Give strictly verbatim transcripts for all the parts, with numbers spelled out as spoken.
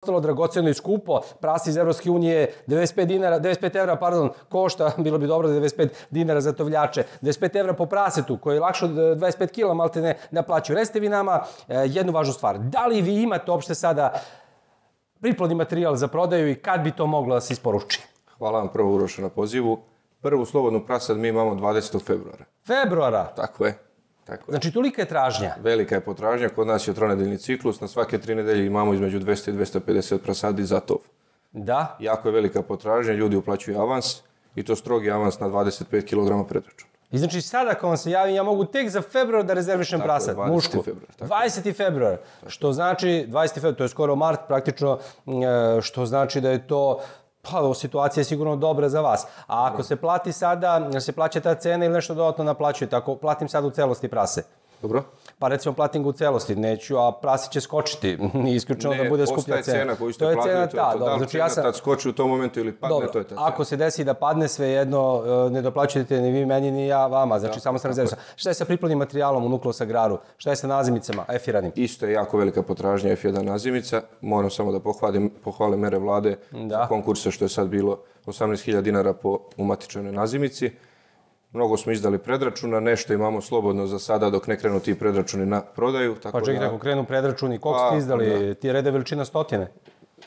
ostalo dragoceno i skupo, prase iz Evropske unije devedeset pet dinara, devedeset pet evra, pardon, košta, bilo bi dobro da devedeset pet dinara za tovljače, devedeset pet evra po prasetu, koji je lakše od dvadeset pet kila, malte ne naplaćuju. Recite vi nama jednu važnu stvar, da li vi imate uopšte sada priplodni materijal za prodaju i kad bi to moglo da se isporuči? Hvala vam prvo, Uroše, na pozivu. Prvu slobodnu prasad mi imamo dvadesetog februara. Februara? Tako je. Tako je. Znači, tolika je tražnja? Velika je potražnja, kod nas je tronedeljni ciklus, na svake tri nedelje imamo između dvesta i dvesta pedeset prasadi za tov. Da? Jako je velika potražnja, ljudi uplaćuju avans i to strogi avans na dvadeset pet kilograma predračuna. I znači sada kad vam se javim, ja mogu tek za februar da rezervišem prasad, mušku. dvadesetog februara. Što znači, dvadesetog februara, to je skoro mart praktično, što znači da je to, pa situacija je sigurno dobra za vas. A ako se plati sada, se plaća ta cena ili nešto dodatno naplaćujete, ako platim sad u celosti prase? Dobro. Pa recimo platim ga u celosti, neću, a prase će skočiti, nije isključeno da bude skuplja cena. Ne, ostaje cena koju ste platili, to je to. Da li cena tad skoči u tom momentu ili padne, to je ta cena. Ako se desi da padne, svejedno ne doplaćujete ni vi meni, ni ja vama, znači samo sam rezervisao. Šta je sa priplodnim materijalom u nukleosagraru? Šta je sa nazimicama, efiranim? Isto je jako velika potražnja F jedan nazimica. Moram samo da pohvalim mere vlade za konkurse što je sad bilo osamnaest hiljada dinara po umatičenoj nazimici. Mnogo smo izdali predračuna, nešto imamo slobodno za sada dok ne krenu ti predračuni na prodaju. Pa čekajte, ako krenu predračuni, koliko ste izdali? Ti rede veličina stotine?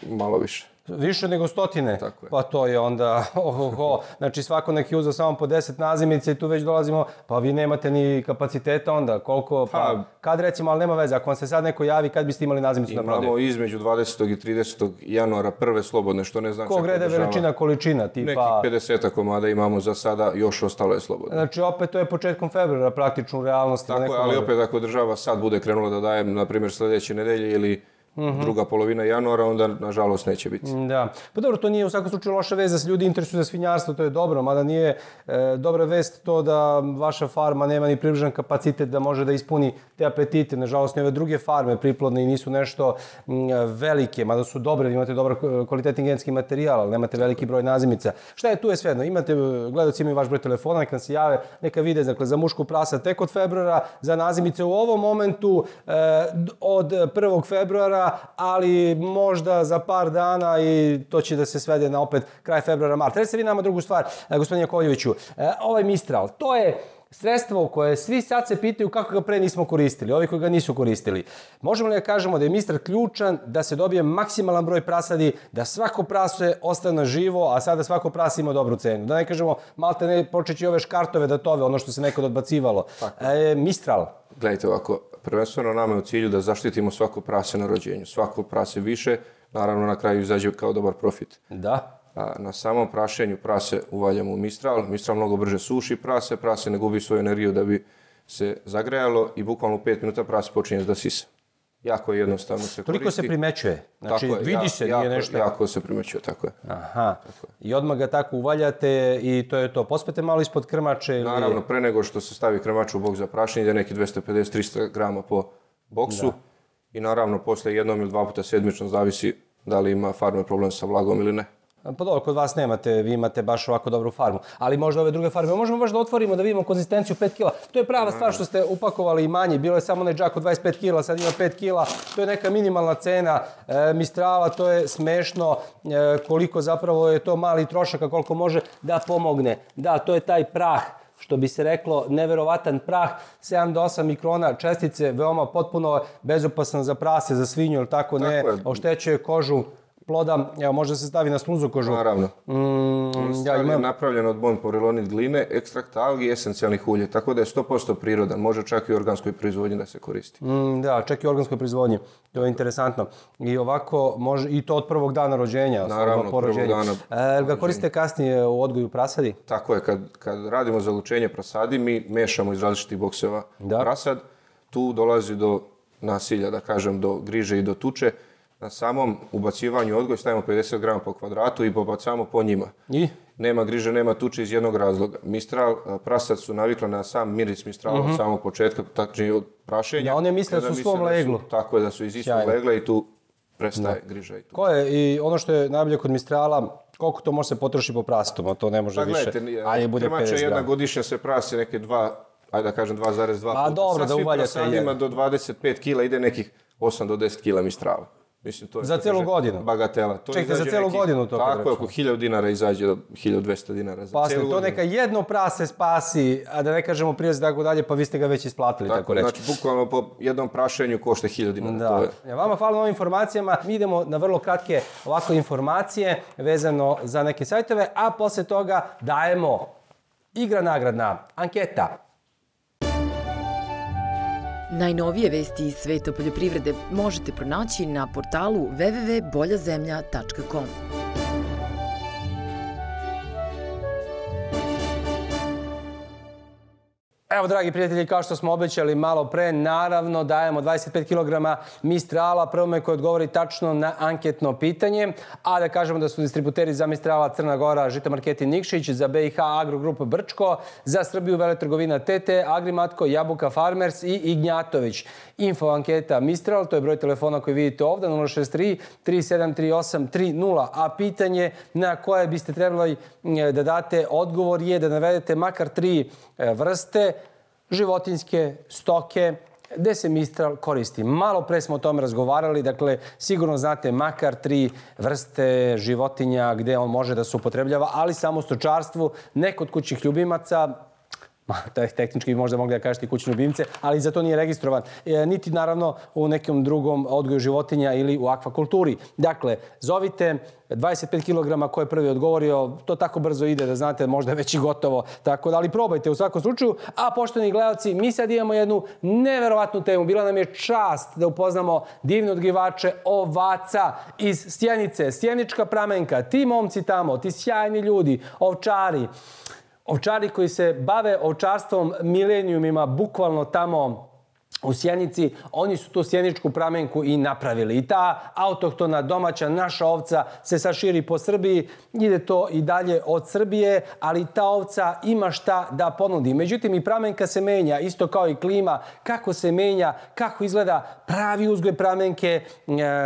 Malo više. Više nego stotine? Tako je. Pa to je onda, ohoho, znači svako neki uzeo samo po deset nazimica i tu već dolazimo, pa vi nemate ni kapaciteta onda, koliko, pa kad recimo, ali nema veze, ako vam se sad neko javi, kad biste imali nazimicu na prodaju? Imamo između dvadesetog i tridesetog januara prve slobodne, što ne znači... Kog rede veličina, količina, tipa... Nekih pedeset komada imamo za sada, još ostalo je slobodno. Znači opet to je početkom februara praktično u realnosti. Tako je, ali opet ako država sad bude krenula da daje, na primjer, sljedeće nedelje ili druga polovina januara, onda nažalost neće biti. Da. Pa dobro, to nije u svakom slučaju loša vest da se ljudi interesuju za svinjarstvo, to je dobro, mada nije dobra vest to da vaša farma nema ni približan kapacitet da može da ispuni te apetite. Nažalost, ove druge farme priplodne i nisu nešto velike, mada su dobre, imate dobar kvalitetni genetski materijal, ali nemate veliki broj nazimica. Šta je tu je svejedno? Imate, gledaoci imaju vaš broj telefona, neka se jave, neka vide, dakle, za mušku prasa tek od februara, za nazimice u ovom momentu od prvog februara, ali možda za par dana i to će da se svede na opet kraj februara, marta. Recite vi nama drugu stvar, gospodine Jakovljeviću, ovaj Mistral, to je sredstvo koje svi sad se pitaju kako ga pre nismo koristili, ovi koji ga nisu koristili. Možemo li da kažemo da je Mistral ključan da se dobije maksimalan broj prasadi, da svako prase ostane živo, a sada svako prase ima dobru cenu? Da ne kažemo, malte ne počeći ove škartove da tove, ono što se nekad odbacivalo. Mistral. Gledajte ovako, prvenstveno nama je u cilju da zaštitimo svako prase na rođenju. Svako prase više, naravno na kraju izađe kao dobar profit. Da. Na samom prašenju prase uvaljamo u Mistral. Mistral mnogo brže suši prase, prase ne gubi svoju energiju da bi se zagrejalo i bukvalno u pet minuta prase počinje da sisa. Jako je jednostavno se koristi. Toliko se primećuje? Znači vidi se, nije nešto... Jako se primećuje, tako je. Aha. I odmah ga tako uvaljate i to je to. Pospete malo ispod krmače ili... Naravno, pre nego što se stavi krmač u boks za prašenje, ide neki dvesta pedeset do trista grama po boksu. I naravno, posle jednom ili dva puta sedmično zavisi da li ima farmer problem sa vlagom ili ne. Pa dobro, kod vas nemate, vi imate baš ovako dobru farmu, ali možda ove druge farme, možemo baš da otvorimo da vidimo konzistenciju pet kila. To je prava stvar što ste upakovali i manje, bilo je samo onaj džak od dvadeset pet kila, sad ima pet kila, to je neka minimalna cena Mistrala, to je smešno koliko zapravo je to mali trošak, a koliko može da pomogne. Da, to je taj prah, što bi se reklo, neverovatan prah, sedam do osam mikrona čestice, veoma potpuno bezopasan za prase, za svinju, ili tako ne, oštećuje kožu ploda, evo, može se stavi na slunzu kožu. Naravno. Mistral je napravljen od bonporelonit gline, ekstrakt algi i esencijalnih ulje, tako da je sto posto prirodan, može čak i u organskoj proizvodnji da se koristi. Da, čak i u organskoj proizvodnji, to je interesantno. I ovako, i to od prvog dana rođenja. Naravno, od prvog dana. Jel ga koristite kasnije u odgoju prasadi? Tako je, kad radimo zalučenje prasadi, mi mešamo iz različitih bokseva prasad, tu dolazi do nasilja, da kažem, do griže i do tuče. Na samom ubacivanju odgoj stavimo pedeset grama po kvadratu i pobacamo po njima. I? Nema griže, nema tuče iz jednog razloga. Mistral, prasad su navikli na sam miris Mistrala od samog početka, tačnije od prašenja. Da, oni misle da su u svom leglu. Tako je, da su iz istog legla i tu prestaje griža. Ko je, i ono što je najbolje kod Mistrala, koliko to može se potroši po prastu, a to ne može više. Ajde, bude pedeset grama. Jedna godišnja se prasi neke dva, ajde da kažem dva zarez dva puta. A dobro, da uvaljate jedan. Sa svim prasadima do dvadeset pet kila ide nekih osam do deset kila Mistrala. Mislim, to je, za celu godinu? Bagatela. To Čekajte, za celu neki, godinu to? Tako je, oko hiljadu dinara izađe do hiljadu dvesta dinara za pa celu to godinu. neka jedno prase spasi, a da ne kažemo prirez i tako dalje, pa vi ste ga već isplatili, tako, tako reći. Znači, bukvalno po jednom prašenju košta hiljadu dinara. Da. To je. Ja, vama hvala na ovim informacijama. Mi idemo na vrlo kratke ovako informacije vezano za neke sajtove, a posle toga dajemo igra nagradna anketa. Najnovije vesti iz sveta poljoprivrede možete pronaći na portalu w w w tačka bolja zemlja tačka com. Evo, dragi prijatelji, kao što smo obećali malo pre, naravno dajemo dvadeset pet kilograma Mistrala prvome koji odgovori tačno na anketno pitanje, a da kažemo da su distributeri za Mistrala Crna Gora, Žito Marketi Nikšić, za B i H Agrogrup Brčko, za Srbiju Veletrgovina T T, Agrimatko, Jabuka Farmers i Ignjatović. Info anketa Mistral, to je broj telefona koji vidite ovdje, nula šest tri, tri sedam tri osam tri nula, a pitanje na koje biste trebali da date odgovor je da navedete makar tri vrste životinjske stoke gde se Mistral koristi. Malo pre smo o tome razgovarali, dakle sigurno znate makar tri vrste životinja gde on može da se upotrebljava, ali samo u stočarstvu, ne kod kućnih ljubimaca, tehnički bi možda mogli da kažete kućne ljubimce, ali za to nije registrovan. E, niti naravno u nekom drugom odgoju životinja ili u akvakulturi. Dakle, zovite dvadeset pet kilograma ko je prvi odgovorio, to tako brzo ide da znate, možda je već i gotovo. Tako da, ali probajte u svakom slučaju. A poštovani gledalci, mi sad imamo jednu neverovatnu temu. Bila nam je čast da upoznamo divne odgajivače ovaca iz Sjenice, Sjenička Pramenka, ti momci tamo, ti sjajni ljudi, ovčari. Ovčari koji se bave ovčarstvom milenijumima, bukvalno tamo u Sjenici, oni su tu Sjeničku Pramenku i napravili. I ta autohtona domaća naša ovca se sad širi po Srbiji, ide to i dalje od Srbije, ali ta ovca ima šta da ponudi. Međutim, i Pramenka se menja, isto kao i klima, kako se menja, kako izgleda pravi uzgoj Pramenke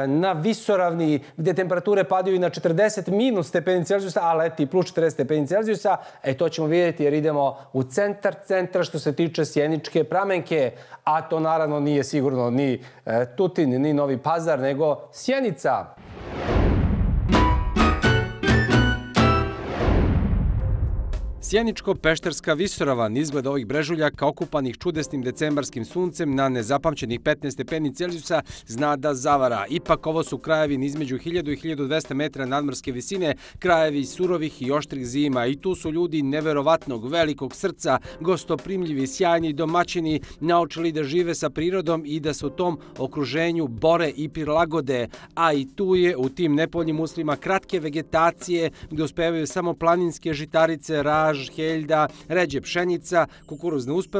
na visoravni, gde temperature padaju i na četrdeset minus stepeni Celzijusa, a leti plus četrdeset stepeni Celzijusa. E, to ćemo vidjeti jer idemo u centar centra što se tiče Sjeničke Pramenke, a to naravno nije sigurno ni Tutin, ni Novi Pazar, nego Sjenica. Sjeničko-pešterska visoravan, izgled ovih brežuljaka okupanih čudesnim decembarskim suncem na nezapamćenih petnaest stepeni Celzijusa zna da zavara. Ipak ovo su krajevi između hiljadu i hiljadu dvesta metra nadmorske visine, krajevi surovih i oštrih zima. I tu su ljudi neverovatnog, velikog srca, gostoprimljivi, sjajni domaćini, naučili da žive sa prirodom i da se u tom okruženju bore i prilagode. A i tu je u tim nepoljnim uslovima kratke vegetacije gde uspevaju samo planinske žitarice, raž, heljda, ređe pšenica, kukuruzne uspev,